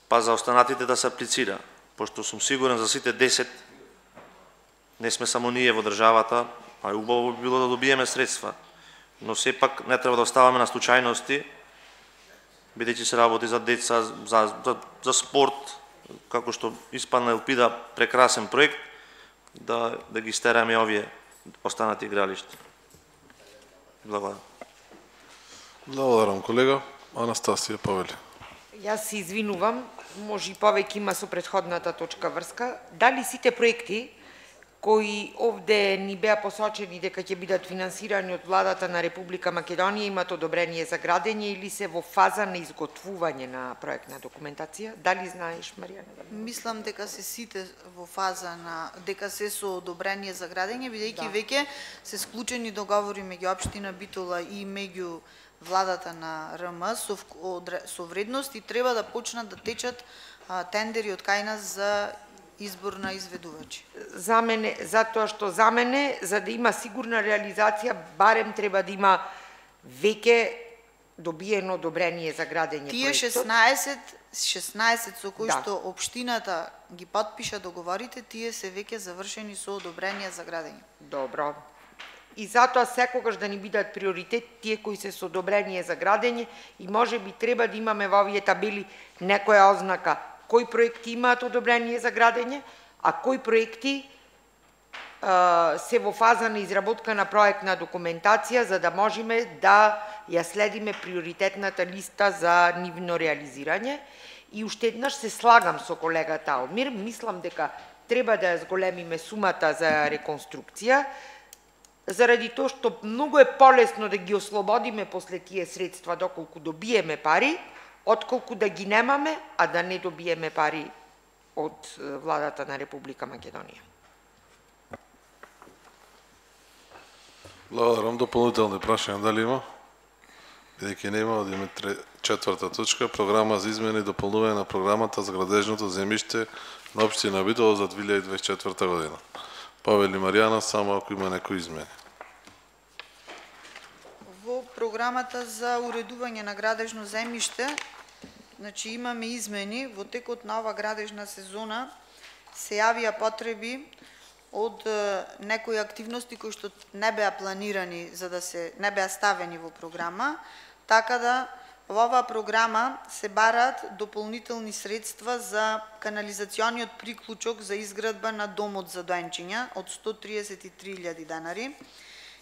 Па за останатите да се аплицира, пошто сум сигурен за сите десет, не сме само ние во државата, а убаво би било да добиеме средства. Но сепак не треба да оставаме на случајности, бидејќи се работи за деца, за, за, за спорт, како што испадна Елпида, прекрасен проект, да, да ги стераме овие останати игралишта. Благодарам. Благодарам, колега. Анастасија Павели. Јас се извинувам, може и повеќе има со претходната точка врска. Дали сите проекти кои овде ни беа посочени дека ќе бидат финансирани од владата на Република Македонија имат одобрение за градење или се во фаза на изготвување на проектна документација? Дали знаеш, Маријана? Мислам дека се сите во фаза на дека се со одобрение за градење, бидејќи Да. веќе се склучени договори меѓу општина Битола и меѓу владата на РМ со, со вредност и треба да почнат да течат а, тендери од кај нас за избор на изведувачи. За мене, затоа што за мене, за да има сигурна реализација, барем треба да има веќе добиено одобрение за градење Тие проектот. шеснаесет, шеснаесет со кои Да. што општината ги потпиша договорите, тие се веќе завршени со одобрение за градење. Добро. И затоа секогаш да ни бидат приоритет тие кои се со одобрение за градење и може би треба да имаме во овие табели некоја ознака кои проекти имаат одобрение за градење, а кои проекти а, се во фаза на изработка на проектна документација за да можеме да ја следиме приоритетната листа за нивно реализирање. И уште еднаш се слагам со колегата Алмир, мислам дека треба да ја зголемиме сумата за реконструкција, заради тоа што многу е полесно да ги ослободиме после тие средства доколку добиеме пари, отколку да ги немаме, а да не добиеме пари од владата на Република Македонија. Благодарам. Дополнителни прашања дали има? Бидејќи нема, одиме четврта точка, програма за измени и дополнување на програмата за градежното земјиште на општина Битола за две илјади дваесет и четврта година. Повели Маријана, само ако има некои измени. Во програмата за уредување на градежно земјиште, значи имаме измени. Во текот на ова градежна сезона се јавија потреби од некои активности кои што не беа планирани, за да се не беа ставени во програма, така да во оваа програма се бараат дополнителни средства за канализациониот приклучок за изградба на домот за доенчиња од сто триесет и три илјади денари.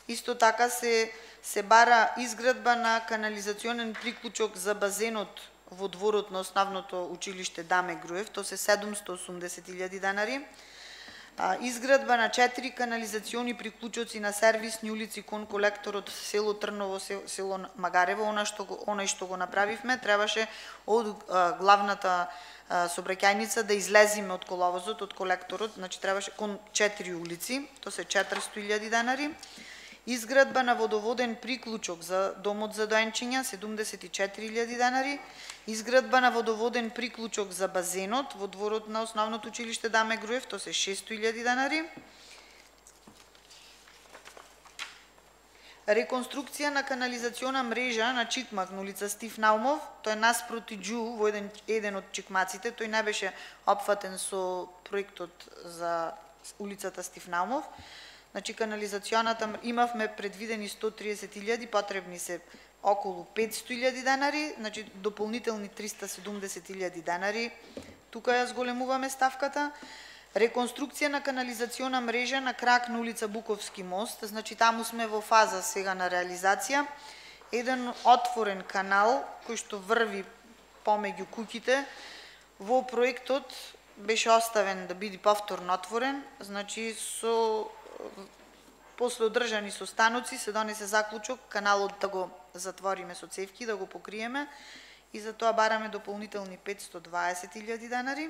Исто така се се бара изградба на канализационен приклучок за базенот во дворот на основното училиште Даме Груев, тоа се седумсто и осумдесет илјади денари. Изградба на четири канализациони приклучоци на сервисни улици кон колекторот село Трново, село Магарево, она што го, онај што го направивме, требаше од главната сообраќајница да излезиме од коловозот, од колекторот, значи требаше кон четири улици, тоа се четиристо илјади денари. Изградба на водоводен приклучок за домот за доенчиња, седумдесет и четири илјади денари. Изградба на водоводен приклучок за базенот во дворот на основното училиште Даме Груев, тоа се шесто илјади денари. Реконструкција на канализациона мрежа на Чикмак на улица Стив Наумов, тоа е наспроти Џу во еден, еден од чикмаците, тој не беше опфатен со проектот за улицата Стив Наумов. Значи канализационата имавме предвидени сто триесет илјади, потребни се околу петсто илјади денари, значи дополнителни триста седумдесет илјади денари. Тука ја зголемуваме ставката. Реконструкција на канализациона мрежа на крак на улица Буковски мост, значи таму сме во фаза сега на реализација. Еден отворен канал кој што врви помеѓу куќите, во проектот беше оставен да биде повторно отворен, значи со после одржани состаноци се донесе заклучок каналот да го затвориме со цевки, да го покриеме и за тоа бараме дополнителни петсто дваесет илјади денари.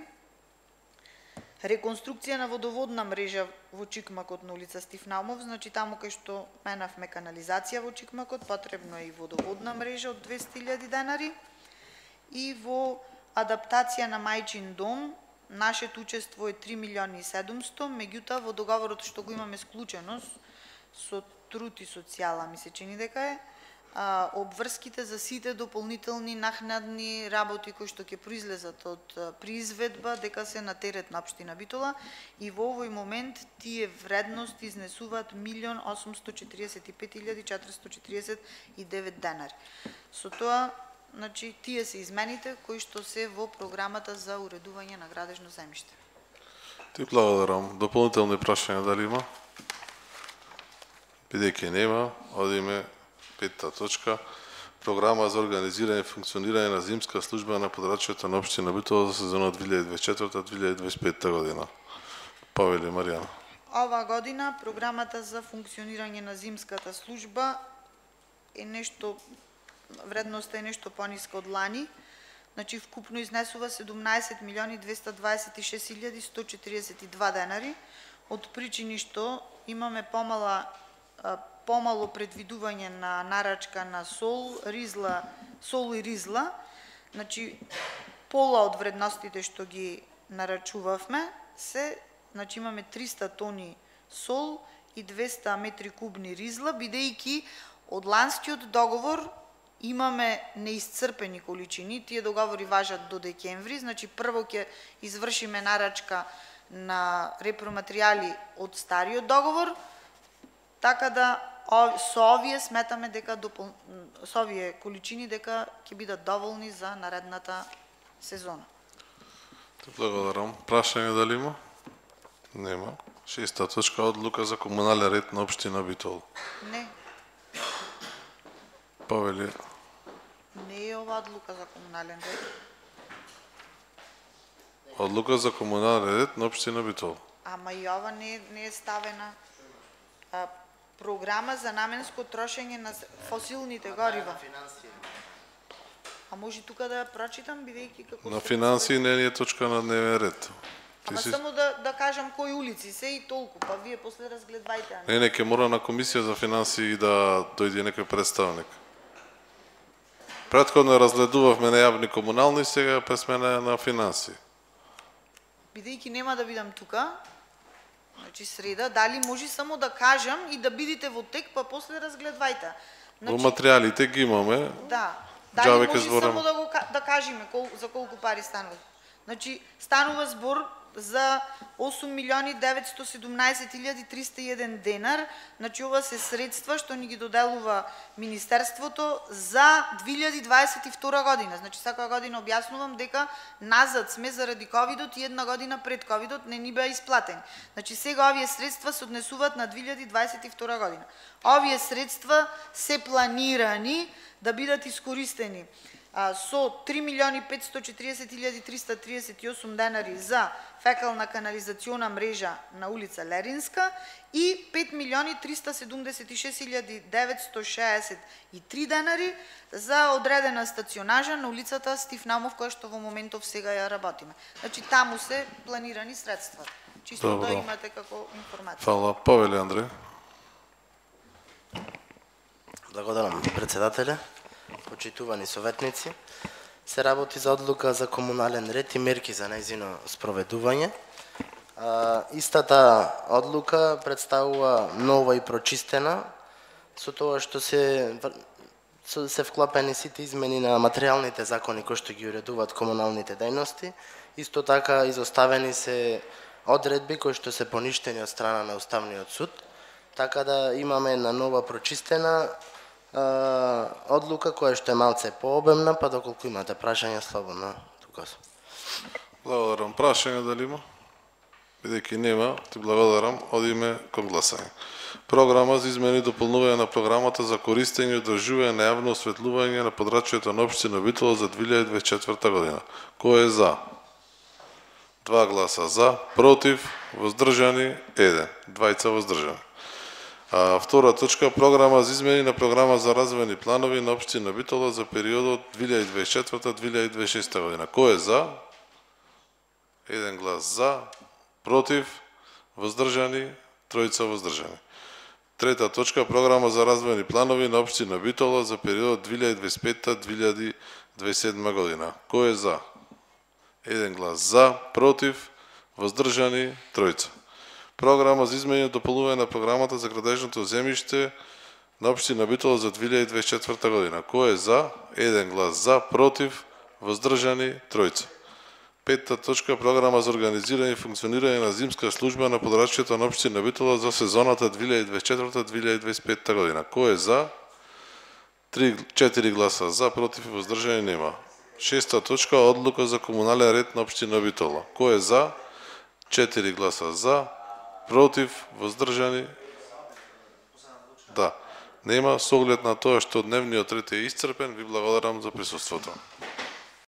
Реконструкција на водоводна мрежа во Чикмакот на улица Стив Наумов, значи таму кај што менавме канализација во Чикмакот, потребно е и водоводна мрежа од двесте илјади денари. И во адаптација на мајчин дом, нашето учество е три милиони и седумсто, меѓутоа во договорот што го имаме склучено со Труд и социјала, ми се чини дека е, а, обврските за сите дополнителни нахнадни работи кои што ќе произлезат од приизведба, дека се на терет на општина Битола и во овој момент тие вредности изнесуваат милион осумсто четиридесет и пет илјади четиристо четиридесет и девет денари. Со тоа, значи, тие се измените кои што се во програмата за уредување на градежно земјиште. Ти благодарам. Дополнителни прашања дали има? Бидејќи нема, одиме петта точка. Програма за организирање и функционирање на зимска служба на подрачјето на општина Битола за сезона две илјади дваесет и четврта - две илјади дваесет и петта година. Повели Маријана. Ова година програмата за функционирање на зимската служба е нешто, вредноста е нешто пониска од лани, значи вкупно изнесува седумнаесет милиони двесте дваесет и шест илјади сто четиридесет и два денари, од причини што имаме помала помало предвидување на нарачка на сол, ризла, сол и ризла, значи пола од вредностите што ги нарачувавме се, значи имаме триста тони сол и двесте метри кубни ризла, бидејќи од ланскиот договор имаме неисцрпени количини, тие договори важат до декември, значи прво ќе извршиме нарачка на репроматеријали од стариот договор, така да со овие сметаме дека допол... со овие количини дека ќе бидат доволни за наредната сезона. Благодарам. Прашање дали има? Нема. Шеста точка, одлука за комунален ред на општина Битола. Не. Повели. Не е ова одлука за комунален ред. Одлука за комунален ред на општина Битола. Ама и ова не, не е ставена. А, програма за наменско трошење на фосилните горива. А може тука да ја прочитам, бидејќи како... На финансии не е точка на дневен ред. Ама си... само да, да кажам кои улици се и толку, па вие после разгледвајте. Не, не, ке мора на комисија за финансии да дојде некој представник. Претходно разгледувавме на јавни комунални, сега пресмена на финансии. Бидејќи нема да бидам тука, значи среда, дали може само да кажам и да бидите во тек, па после разгледвајте. Во материјалите ги имаме. Да. Дали Джаве може зборам. само да го да кажеме кол, за колку пари станува. Значи станува збор за осум милиони деветстотини и седумнаесет илјади триста и еден денар, значи ова се средства што ни ги доделува Министерството за две илјади дваесет и втора година. Значи секоја година објаснувам дека назад сме заради ковидот и една година пред ковидот не ни беа исплатени. Значи сега овие средства се однесуваат на две илјади дваесет и втора година. Овие средства се планирани да бидат искористени со три милиони петстотини и четиридесет илјади триста триесет и осум денари за фекална канализациона мрежа на улица Леринска и пет милиони триста седумдесет и шест илјади деветстотини шеесет и три денари за одредена стационажа на улицата Стив Наумов, која што во моментов сега ја работиме. Значи таму се планирани средства. Чисто Добро. да имате како информација. Фала, повели Андреј. Благодарам, председателе. Почитувани советници, се работи за одлука за комунален ред и мерки за нејзино спроведување. А, истата одлука представува нова и прочистена, со тоа што се со, се вклапени сите измени на материјалните закони кои што ги уредуваат комуналните дејности. Исто така изоставени се одредби кои што се поништени од страна на Уставниот суд, така да имаме една нова прочистена одлука која што е малце пообемна, па доколку имате прашања слободно тука сум. Благодарам. Прашање дали има? Бидејќи нема, ти благодарам. Одиме кон гласање. Програма за измени и дополнување на програмата за користење и одржување на јавно осветлување на подрачјето на општина Битола за две илјади дваесет и четврта година. Кој е за? Два гласа за, против, воздржани, еден. Двајца воздржани. А, втора точка, програма за измени на програма за развојни планови на општина Битола за периодот две илјади дваесет и четврта до две илјади дваесет и шеста година. Кој е за? Еден глас за, против, воздржани, тројца воздржани. Трета точка, програма за развојни планови на општина Битола за периодот две илјади дваесет и пета до две илјади дваесет и седма година. Кој е за? Еден глас за, против, воздржани, тројца. Програма за измени и дополнување на програмата за градежното земјиште на општина Битола за две илјади дваесет и четврта година. Кој е за? Еден глас за, против, воздржани, тројца. Петта точка, програма за организирање и функционирање на зимска служба на подрачјето на општина Битола за сезоната две илјади дваесет и четврта до две илјади дваесет и пета година. Кој е за? три, четири гласа за, против и воздржани нема. Шеста точка, одлука за комунален ред на општина Битола. Кој е за? четири гласа за, против, воздржани? Да. Нема, со оглед на тоа што дневниот ред е исцрпен, ви благодарам за присуството.